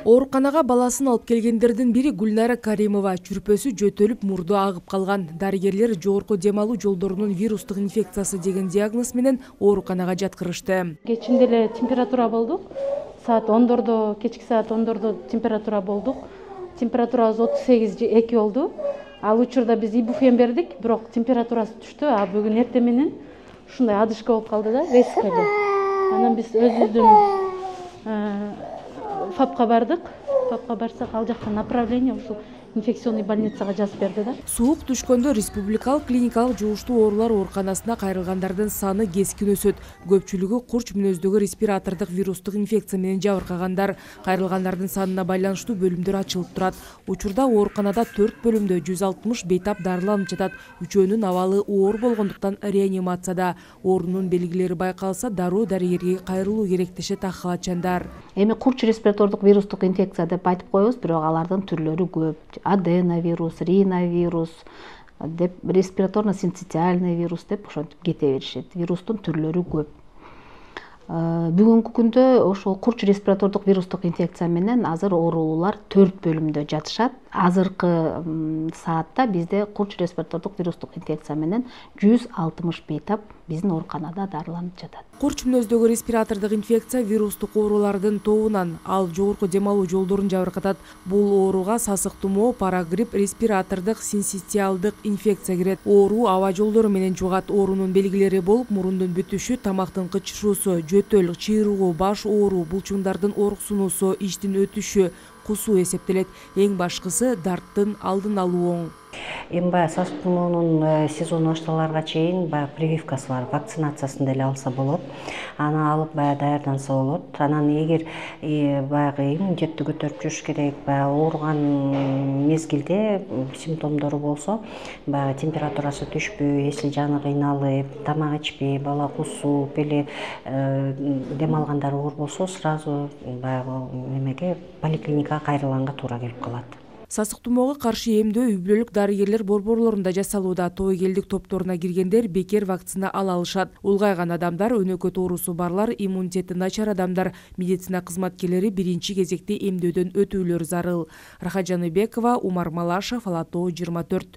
Ооруканага баласын алып келгендердин бири Гүлнара Каримова. Чүрпөсү жөтөлүп, мурду агып калган. Дарыгерлер жогорку дем алуу жолдорунун вирустук инфекциясы деген диагноз менен ооруканага жаткырышты. Кечинде эле температура болдук. Кечки саат 10дордо температура болдук. Температурабыз 38,2 болду. Ал учурда биз ибуфен бердик, бирок температурасы түштү. А бүгүн эртең менен ушундай адышка болуп калды да, резколе. Анан биз өзүбүздүн ФАПка бардык. ФАПка барсак, ал жактан направление ушул инфекционный больницага жазып берди да. Суук түшкөндө республикалык клиникалык жугуштуу оорулар ооруканасына кайрылгандардын саны кескин өсөт. Көпчүлүгү курч мүнөздөгү респиратордук вирустук инфекция менен жабыркагандар. Кайрылгандардын санына байланыштуу бөлүмдөр ачылып турат. Учурда ооруканада 4 бөлүмдө 160 бейтап дарыланып жатат. Үчөөнүн абалы оор болгондуктан реанимацияда. Оорунун белгилери байкалса, дароо дарыгерге кайрылуу керек дешет ак халатчандар. Эми курч респиратордук вирустук инфекция деп айтып коебуз, бирок алардын түрлөрү көп. Аденовирус, риновирус деп, респираторно-синцитиальный вирус деп ошентип кете беришет. Вирустун түрлөрү көп. Бүгүнкү күндө ошол курч респиратордук вирустук инфекция менен азыр оорулуулар 4 бөлүмдө жатышат. Азыркы саатта бизде курч респиратордук вирустук инфекция менен 160 бейтап биздин ооруканада дарыланып жатат. Курч мүнөздөгү респиратордук инфекция вирустук оорулардын тобунан. Ал жогорку дем алуу жолдорун жабыркатат. Бул ооруга сасык тумоо, парагрипп, респиратордук синцитиалдык инфекция кирет. Оору аба жолдору менен жугат. Оорунун белгилери болуп, мурундун бүтүшү, тамактын кычышуусу, жөтөл, чыйрыгуу, баш ооруу, булчуңдардын ооруксунуусу, ичтин өтүшү, кусуу эсептелет. Эң башкысы дарттын алдын алуу оң. Эми баягы сасык тумоонун сезону башталарга чейин баягы прививкасы бар, вакцинациясын деле алса болот. Аны алып баягы даярданса болот. Анан эгер баягы иммунитетти көтөрүп жүрүш керек, баягы ооруган мезгилде симптомдору болсо, баягы температурасы түшпөй, эси жаны кыйналып, тамак ичпей, бала кусуп эле дем алгандар оор болсо, сразу баягы немеге поликлиникага кайрылганга туура келип калат. Сасык тумоого каршы эмдөө үй-бүлөлүк дарыгерлер борборлорунда жасалууда. Тобокелдик топторуна киргендер бекер вакцина ала алышат. Улгайган адамдар, өнөкөт оорусу барлар, иммунитети начар адамдар, медицина кызматкерлери биринчи кезекте эмдөөдөн өтүүлөрү зарыл. Рахат Жаныбекова, Умар Малашев, Ала Тоо 24.